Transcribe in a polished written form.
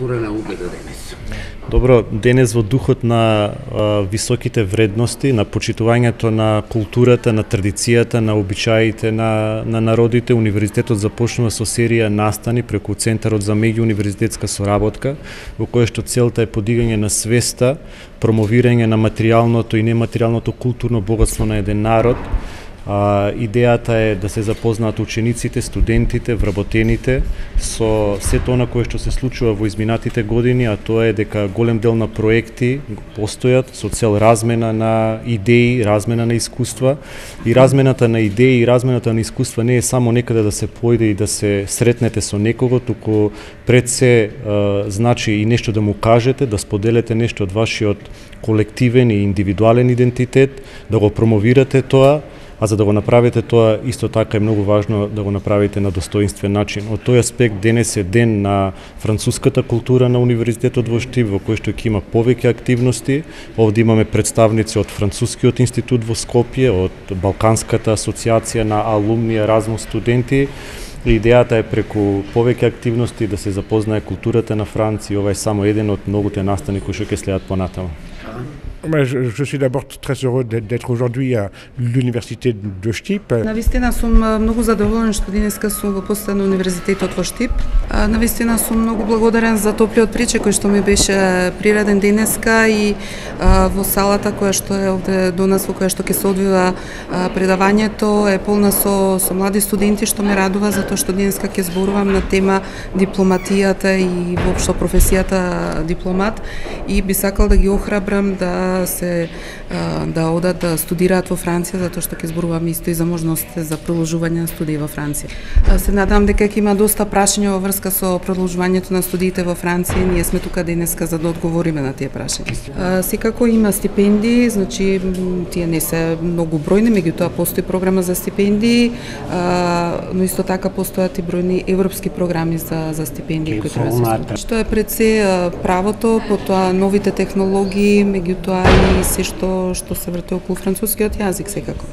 култура на убеда денес? Добро, денес во духот на високите вредности, на почитувањето на културата, на традицијата, на обичаите на народите, универзитетот започнува со серија настани преку Центарот за меѓууниверзитетска соработка, во која што целта е подигање на свеста, промовирање на материјалното и нематеријалното културно богатство на еден народ. Идејата е да се запознаат учениците, студентите, вработените со сето она кое што се случува во изминатите години, а тоа е дека голем дел на проекти постојат со цел размена на идеи, размена на искуства, и размената на идеи и размената на искуства не е само некаде да се појде и да се сретнете со некого, туку пред се значи и нешто да му кажете, да споделете нешто од вашиот колективен и индивидуален идентитет, да го промовирате тоа. А за да го направите тоа, исто така е многу важно да го направите на достоинствен начин. Од тој аспект денес е ден на француската култура на Универзитетот во Штип, во кој што ќе има повеќе активности. Овде имаме представници од Францускиот институт во Скопје, од Балканската асоциација на алумни Еразмус студенти. Идејата е преку повеќе активности да се запознае културата на Франција. Ова е само еден од многуте настани кои што ќе следат понатаму. Je suis d'abord très heureux d'être aujourd'hui à l'université de Штип. Навистина сум многу задоволен што денеска сум во посета на универзитетот во Штип. Навистина сум многу благодарен за топлиот причек кој што ми беше приреден денеска и во салата која што е овде до нас, во која што ќе се одвива предавањето, е полна со млади студенти, што ме радува затоа што денеска ќе зборувам на тема дипломатијата и воопшто професијата дипломат, и би сакал да ги охрабрам да одат да студираат во Франција, затоа што ќе зборуваме исто и за можностите за продолжување на студии во Франција. Се надам дека ќе има доста прашања во врска со продолжувањето на студиите во Франција. Ние сме тука денеска за да одговориме на тие прашања. Секако има стипендии, значи тие не се многу бројни, меѓутоа постои програма за стипендии, но исто така постојат и бројни европски програми за стипендии кои треба да се. Што е пред се правото, потоа новите технологии, меѓутоа и се што се врти околу францускиот јазик секако.